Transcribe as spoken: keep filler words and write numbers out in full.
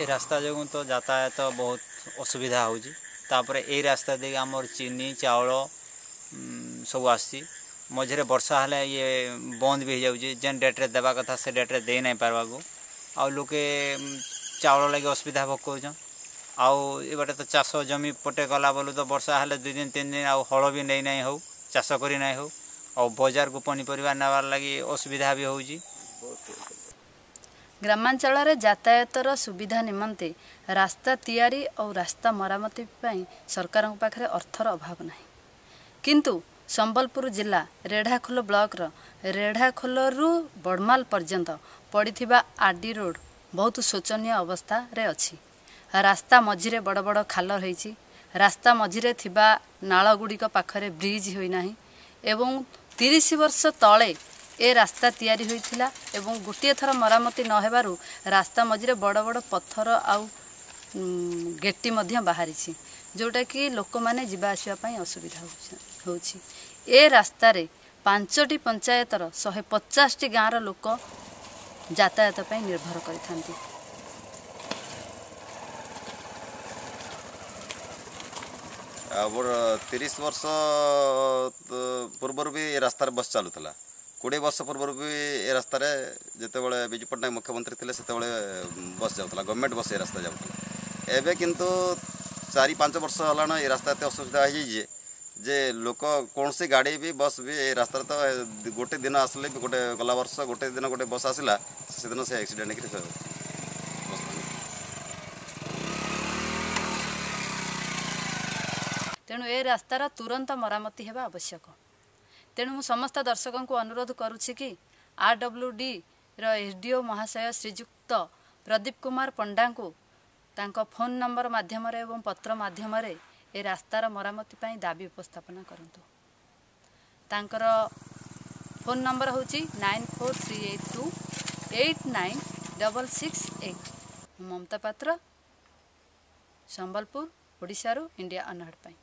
ଏ ରାସ୍ତା ଯୋଗୁଁ ତ ଯାତାୟାତ ବହୁତ ଅସୁବିଧା ହେଉଛି। ତାପରେ ଏଇ ରାସ୍ତା ଦେଇକି ଆମର ଚିନି, ଚାଉଳ ସବୁ ଆସୁଛି। ମଝିରେ ବର୍ଷା ହେଲେ ଇଏ ବନ୍ଦ ବି ହେଇଯାଉଛି। ଯେନ୍ ଡେଟ୍ରେ ଦେବା କଥା ସେ ଡେଟ୍ରେ ଦେଇ ନାଇଁ ପାରବାକୁ, ଆଉ ଲୋକେ ଚାଉଳ ଲାଗି ଅସୁବିଧା ଭୋଗ କରୁଛନ୍। ଆଉ ଏ ବାଟେ ତ ଚାଷ ଜମି ପଟେ ଗଲା ବେଲୁ ତ ବର୍ଷା ହେଲେ ଦୁଇ ଦିନ ତିନି ଦିନ ଆଉ ହଳ ବି ନେଇ ନାଇଁ ହଉ, ଚାଷ କରି ନାଇଁ ହଉ, ଆଉ ବଜାରକୁ ପନିପରିବା ନେବାର୍ ଲାଗି ଅସୁବିଧା ବି ହେଉଛି। ଗ୍ରାମାଞ୍ଚଳରେ ଯାତାୟାତର ସୁବିଧା ନିମନ୍ତେ ରାସ୍ତା ତିଆରି ଆଉ ରାସ୍ତା ମରାମତି ପାଇଁ ସରକାରଙ୍କ ପାଖରେ ଅର୍ଥର ଅଭାବ ନାହିଁ, କିନ୍ତୁ ସମ୍ବଲପୁର ଜିଲ୍ଲା ରେଢ଼ାଖୋଲ ବ୍ଲକର ରେଢ଼ାଖୋଲରୁ ବଡ଼ମାଲ ପର୍ଯ୍ୟନ୍ତ ପଡ଼ିଥିବା ଆର୍ ଡି ରୋଡ଼ ବହୁତ ଶୋଚନୀୟ ଅବସ୍ଥାରେ ଅଛି। ରାସ୍ତା ମଝିରେ ବଡ଼ ବଡ଼ ଖାଲ ରହିଛି, ରାସ୍ତା ମଝିରେ ଥିବା ନାଳ ଗୁଡ଼ିକ ପାଖରେ ବ୍ରିଜ୍ ହୋଇନାହିଁ ଏବଂ ତିରିଶ ବର୍ଷ ତଳେ ଏ ରାସ୍ତା ତିଆରି ହୋଇଥିଲା ଏବଂ ଗୋଟିଏ ଥର ମରାମତି ନ ହେବାରୁ ରାସ୍ତା ମଝିରେ ବଡ଼ ବଡ଼ ପଥର ଆଉ ଗେଟି ମଧ୍ୟ ବାହାରିଛି, ଯେଉଁଟାକି ଲୋକମାନେ ଯିବା ଆସିବା ପାଇଁ ଅସୁବିଧା ହେଉଛି। ଏ ରାସ୍ତାରେ ପାଞ୍ଚଟି ପଞ୍ଚାୟତର ଶହେ ପଚାଶଟି ଗାଁର ଲୋକ ଯାତାୟାତ ପାଇଁ ନିର୍ଭର କରିଥାନ୍ତି। ଆଉ ତିରିଶ ବର୍ଷ ପୂର୍ବରୁ ବି ଏ ରାସ୍ତାରେ ବସ୍ ଚାଲୁଥିଲା। କୋଡ଼ିଏ ବର୍ଷ ପୂର୍ବରୁ ବି ଏ ରାସ୍ତାରେ, ଯେତେବେଳେ ବିଜୁ ପଟ୍ଟନାୟକ ମୁଖ୍ୟମନ୍ତ୍ରୀ ଥିଲେ, ସେତେବେଳେ ବସ୍ ଯାଉଥିଲା, ଗଭର୍ଣ୍ଣମେଣ୍ଟ ବସ୍ ଏ ରାସ୍ତା ଯାଉଥିଲା। ଏବେ କିନ୍ତୁ ଚାରି ପାଞ୍ଚ ବର୍ଷ ହେଲାଣି ଏ ରାସ୍ତା ଏତେ ଅସୁବିଧା ହେଇଯାଇଛି ଯେ ଲୋକ କୌଣସି ଗାଡ଼ି ବି, ବସ୍ ବି ଏ ରାସ୍ତାରେ ତ ଗୋଟେ ଦିନ ଆସିଲେ ବି, ଗୋଟେ ଗଲା ବର୍ଷ ଗୋଟେ ଦିନ ଗୋଟେ ବସ୍ ଆସିଲା, ସେଦିନ ସେ ଆକ୍ସିଡେଣ୍ଟ ହେଇକିରି ବସ୍। ତେଣୁ ଏ ରାସ୍ତାର ତୁରନ୍ତ ମରାମତି ହେବା ଆବଶ୍ୟକ। ତେଣୁ ମୁଁ ସମସ୍ତ ଦର୍ଶକଙ୍କୁ ଅନୁରୋଧ କରୁଛି କି ଆର୍ ଡବ୍ଲ୍ୟୁ ଡିର ଏସ୍ ଡି ଓ ମହାଶୟ ଶ୍ରୀଯୁକ୍ତ ପ୍ରଦୀପ କୁମାର ପଣ୍ଡାଙ୍କୁ ତାଙ୍କ ଫୋନ୍ ନମ୍ବର ମାଧ୍ୟମରେ ଏବଂ ପତ୍ର ମାଧ୍ୟମରେ ଏ ରାସ୍ତାର ମରାମତି ପାଇଁ ଦାବି ଉପସ୍ଥାପନା କରନ୍ତୁ। ତାଙ୍କର ଫୋନ୍ ନମ୍ବର ହେଉଛି nine four three eight two eight nine double six eight. ମୁଁ ମମତା ପାତ୍ର, ସମ୍ବଲପୁର, ଓଡ଼ିଶାରୁ ଇଣ୍ଡିଆ ଅନହର୍ଡ଼ ପାଇଁ।